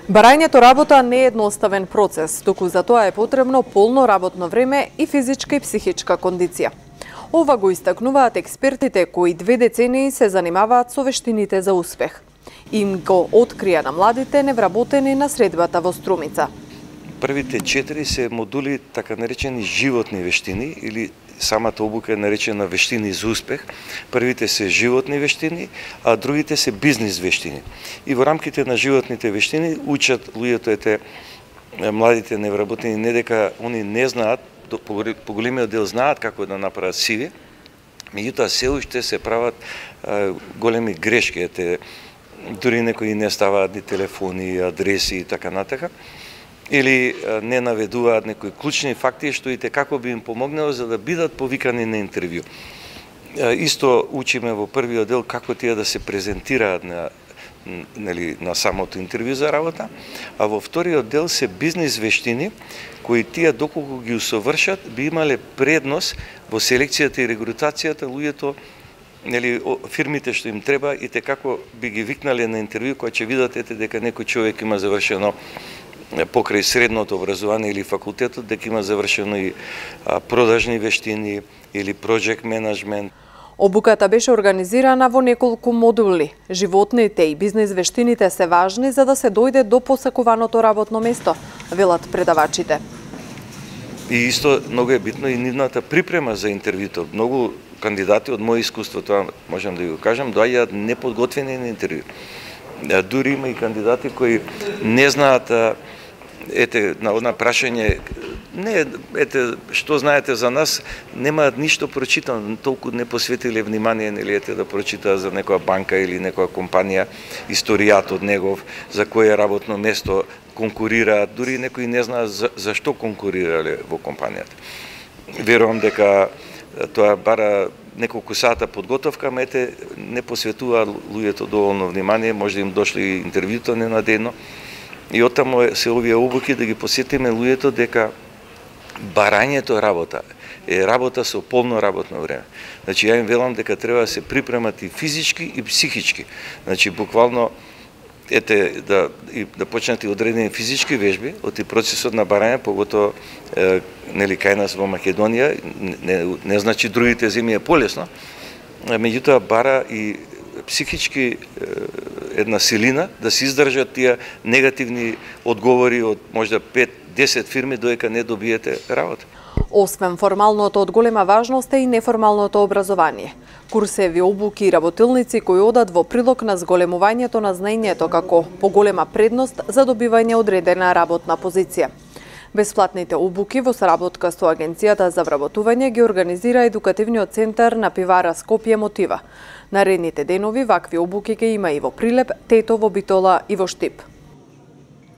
Барањето работа не е едноставен процес, туку за тоа е потребно полно работно време и физичка и психичка кондиција. Ова го истакнуваат експертите кои 2 децении се занимаваат со вештините за успех. Им го открија на младите невработени на средбата во Струмица. Првите 4 се модули така наречени животни вештини или самата обука е наречена вештини за успех. Првите се животни вештини, а другите се бизнис вештини. И во рамките на животните вештини учат луѓето младите невработени не дека они не знаат, по големиот дел знаат како да направат CV, меѓутоа се уште се прават големи грешки, дури некои не ставаат ни телефони, адреси и така натака, или не наведуваат некои клучни факти што и како би им помогнало за да бидат повикани на интервју. Исто учиме во првиот дел како тие да се презентираат на самото интервју за работа, а во вториот дел се бизнис вештини кои тие доколку ги усовршат би имале предност во селекцијата и регрутацијата луѓето, фирмите што им треба и како би ги викнале на интервју кога ќе видат дека некој човек има завршено покрај средното образование или факултетот, дека има завршено и продажни вештини или project management. Обуката беше организирана во неколку модули. Животните и бизнис вештините се важни за да се дојде до посакуваното работно место, велат предавачите. И исто многу е битно и нивната припрема за интервјуто. Многу кандидати од моје искуство, тоа можам да ви го кажам, доаѓаат неподготвени на интервју. Дури има и кандидати кои не знаат на прашање што знаете за нас, немаат ништо прочитано, толку не посветиле внимание да прочитаат за некоја банка или некоја компанија, историјатот негов, за кое работно место конкурираат, дури некои не знаат за што конкурирале во компанијата. Верувам дека тоа бара неколку сата подготовка, не посветуваат луѓето доволно внимание, може да им дошли интервјуто ненадејно. И оттаму се овие обуки да ги посетиме луѓето дека барањето работа е работа со полно работно време. Значи, ја им велам дека треба да се припремат и физички и психички. Значи, буквално да почнат и одредени физички вежби од и процесот на барање, поготово кај нас во Македонија, не значи другите земји е полесно, меѓутоа бара и психички една силина да се издржат тие негативни одговори од можда 5-10 фирми додека не добиете работа. Освен формалното од голема важност е и неформалното образование. Курсеви, обуки и работилници кои одат во прилог на зголемувањето на знаењето како поголема предност за добивање одредена работна позиција. Бесплатните обуки во соработка со Агенцијата за вработување ги организира едукативниот центар на пивара Скопје Мотива. Наредните денови вакви обуки ќе има и во Прилеп, Тетово, Битола и во Штип.